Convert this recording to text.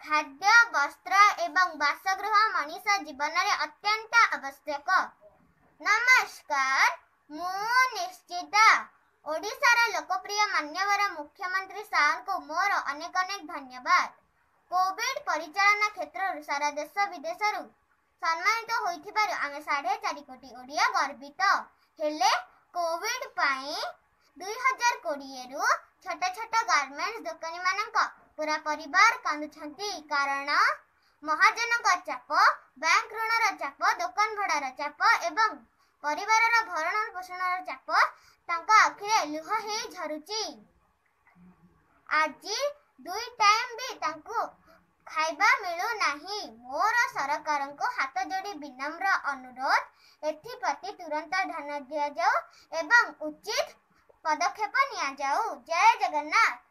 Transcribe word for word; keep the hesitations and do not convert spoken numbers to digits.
ଖାଦ୍ୟ, ବସ୍ତ୍ର ଏବଂ ବାସଗୃହ ମଣିଷ ଜୀବନରେ ଅତ୍ୟନ୍ତ ଆବଶ୍ୟକ। ନମସ୍କାର, ମୁଁ ନିଶ୍ଚିତ। ଓଡ଼ିଶାର ଲୋକପ୍ରିୟ ମାନ୍ୟବର ମୁଖ୍ୟମନ୍ତ୍ରୀ ସାର୍ଙ୍କୁ ମୋର ଅନେକ ଅନେକ ଧନ୍ୟବାଦ। କୋଭିଡ ପରିଚାଳନା କ୍ଷେତ୍ରରୁ ସାରା ଦେଶ ବିଦେଶରୁ ସମ୍ମାନିତ ହୋଇଥିବାରୁ ଆମେ ସାଢ଼େ ଚାରି କୋଟି ଓଡ଼ିଆ ଗର୍ବିତ। ହେଲେ କୋଭିଡ ପାଇଁ ଦୁଇ ହଜାର କୋଡ଼ିଏରୁ ଛୋଟ ଛୋଟ ଗାର୍ମେଣ୍ଟସ ଦୋକାନୀମାନଙ୍କ ପୁରା ପରିବାର କାନ୍ଦୁଛନ୍ତି, କାରଣ ମହାଜନଙ୍କ ଚାପ, ବ୍ୟାଙ୍କ ଋଣର ଚାପ, ଦୋକାନ ଭଡ଼ାର ଚାପ ଏବଂ ପରିବାରର ଭରଣ ପୋଷଣର ଚାପ ତାଙ୍କ ଆଖିରେ ଲୁହ ହେଇ ଝରୁଛି। ଆଜି ଦୁଇ ଟାଇମ୍ ବି ତାଙ୍କୁ ଖାଇବା ମିଳୁନାହିଁ। ମୋର ସରକାରଙ୍କୁ ହାତ ଯୋଡ଼ି ବିନମ୍ର ଅନୁରୋଧ, ଏଥିପ୍ରତି ତୁରନ୍ତ ଧ୍ୟାନ ଦିଆଯାଉ ଏବଂ ଉଚିତ ପଦକ୍ଷେପ ନିଆଯାଉ। ଜୟ ଜଗନ୍ନାଥ।